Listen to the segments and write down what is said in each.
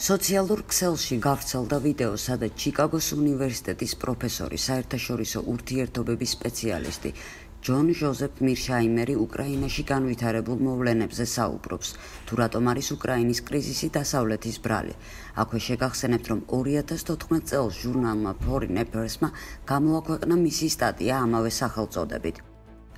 სოციალურ ქსელში გავრცელდა ვიდეო, სადაც ჩიკაგოს უნივერსიტეტის პროფესორი, საერთაშორისო ურთიერთობების სპეციალისტი ჯონ ჟოზეფ მირშაიმერი უკრაინაში განვითარებულ მოვლენებზე საუბრობს, თუ რატომ არის უკრაინის კრიზისი დასავლეთის ბრალი. აქვე შეგახსენებთ, რომ 2014 წელს ჟურნალმა Foreign Affairs-მა გამოაქვეყნა მისი სტატია ამავე სახელწოდებით.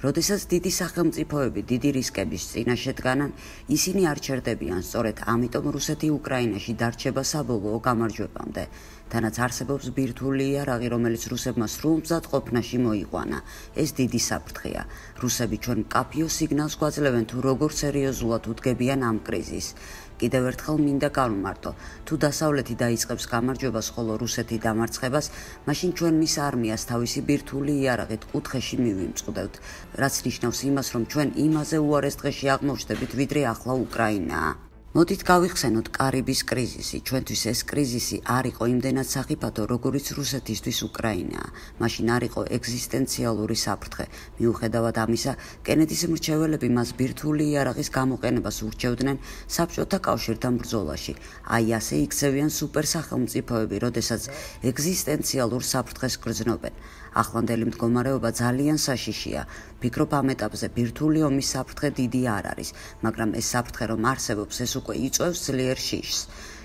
როდესაც დიდი სახელმწიფოები დიდი რისკების წინაშე დგანან, ისინი არ ჩერდებიან, სწორედ ამიტომ რუსეთი უკრაინაში დარჩება საბოლოო გამარჯვებამდე. თანაც არსებობს ბირთვული იარაღი, რომელიც რუსებმა სრულმზად ყოფნაში მოიყვანა. ეს დიდი საფრთხეა. რუსები ჩვენ მკაფიო სიგნალს გვაძლევენ, თუ როგორ სერიოზულად უდგებიან ამ კრიზისს. კიდევ ერთხელ მინდა გავმარტო, თუ დასავლეთი დაიწყებს გამარჯვებას, ხოლო რუსეთი დამარცხებას, მაშინ ჩვენ მის არმიას თავისი ბირთვული იარაღით კუთხეში მივიმწყდევთ, რაც ნიშნავს იმას, რომ ჩვენ იმაზე უარეს დღეში აღმოჩნდებით, ვიდრე ახლა უკრაინაა. მოდით გავიხსენოთ კარიბის კრიზისი. ჩვენთვის ეს კრიზისი არ იყო იმდენად სახიფათო, როგორიც რუსეთისთვის უკრაინაა. მაშინ არ იყო ეგზისტენციალური საფრთხე. მიუხედავად ამისა, კენედის მრჩეველები მას ბირთვული იარაღის გამოყენებას ურჩევდნენ საბჭოთა კავშირთან ბრძოლაში. აი ასე იქცევიან სუპერსახელმწიფოები, როდესაც ეგზისტენციალურ საფრთხეს გრძნობენ. ახლანდელი მდგომარეობა ძალიან საშიშია. ფიქრობ, ამ ეტაპზე ბირთვული ომის საფრთხე დიდი არ არის, მაგრამ ეს საფრთხე რომ არსებობს, ეს უკვე იწვევს ძლიერ შიშს.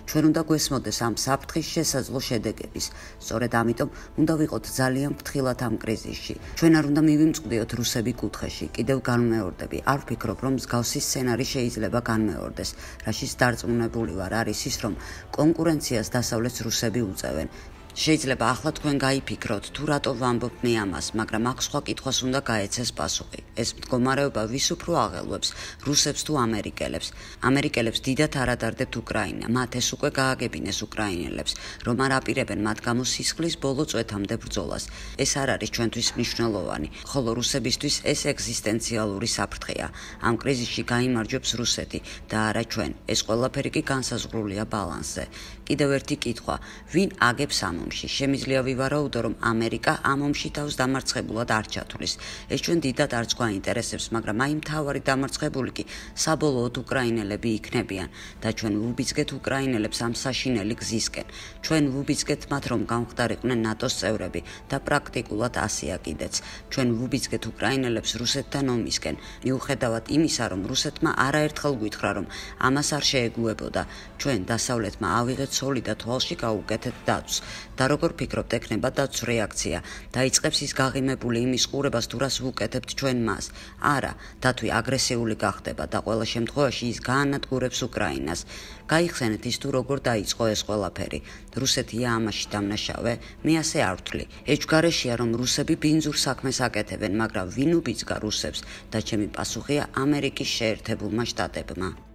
ჩვენ უნდა გვესმოდეს ამ საფრთხის შესაძლო შედეგების. სწორედ ამიტომ უნდა ვიყოთ ძალიან ფრთხილად ამ კრიზისში. ჩვენ არ უნდა მივიმწყდიოთ რუსები კუთხეში. კიდევ განმეორდები. არ ვფიქრობ, რომ მსგავსი სცენარი შეიძლება განმეორდეს. რაშიც დარწმუნებული ვარ, არის ის, რომ კონკურენციას დასავლეთს რუსები უწევენ. შეიძლება ახლა თქვენ გაიფიქროთ, თუ რატო ვამბობ მე ამას, მაგრამ აქ სხვა კითხვას უნდა გაეცეს პასუხი. ეს მდგომარეობა ვის უფრო აღელვებს, რუსებს თუ ამერიკელებს? ამერიკელებს დიდად არ ადარდებთ უკრაინა, მათ ეს უკვე გააგებინეს უკრაინელებს, რომ არ აპირებენ მათ გამო სისხლის ბოლო წვეთამდე ბრძოლას. ეს არ არის ჩვენთვის მნიშვნელოვანი, ხოლო რუსებისთვის ეს ეგზისტენციალური საფრთხეა. ამ კრიზისში გაიმარჯვებს რუსეთი და არა ჩვენ. ეს ყველაფერი კი განსაზღვრულია ბალანსზე. კიდევ ერთი კითხვა, ვინ აგებს ამ ომში? შემიძლია ვივარაუდო, რომ ამერიკა ამ ომში თავს დამარცხებულად არ ჩათვლის. ეს ჩვენ დიდად არც გვაინტერესებს, მაგრამ აი მთავარი დამარცხებული კი საბოლოოდ უკრაინელები იქნებიან და ჩვენ ვუბიძგეთ უკრაინელებს ამ საშინელი გზისკენ. ჩვენ ვუბიძგეთ მათ, რომ გამხდარიყვნენ ნატოს წევრები და პრაქტიკულად ასეა კიდეც. ჩვენ ვუბიძგეთ უკრაინელებს რუსეთთან ომისკენ, მიუხედავად იმისა, რომ რუსეთმა არაერთხელ გვითხრა, რომ ამას არ შეეგუებოდა. ჩვენ დასავლეთმა ავიღეთ სოლი და თვალში გაუკეთეთ დაცვს. და როგორ ფიქრობთ, ექნება დაცვის რეაქცია? დაიწყებს ის გაღიმებული იმის ყურებას, თუ რას ვუკეთებთ ჩვენ მას? არა, დათვი აგრესიული გახდება და ყველა შემთხვევაში ის გაანადგურებს უკრაინას. გაიხსენეთ ის, თუ როგორ დაიწყო ეს ყველაფერი. რუსეთია ამაში დამნაშავე? მე ასე არ ვთვლი. ეჭვგარეშეა, რომ რუსები ბინძურ საქმეს აკეთებენ, მაგრამ ვინ უბიძგა რუსებს? და ჩემი პასუხია ამერიკის შეერთებულმა შტატებმა.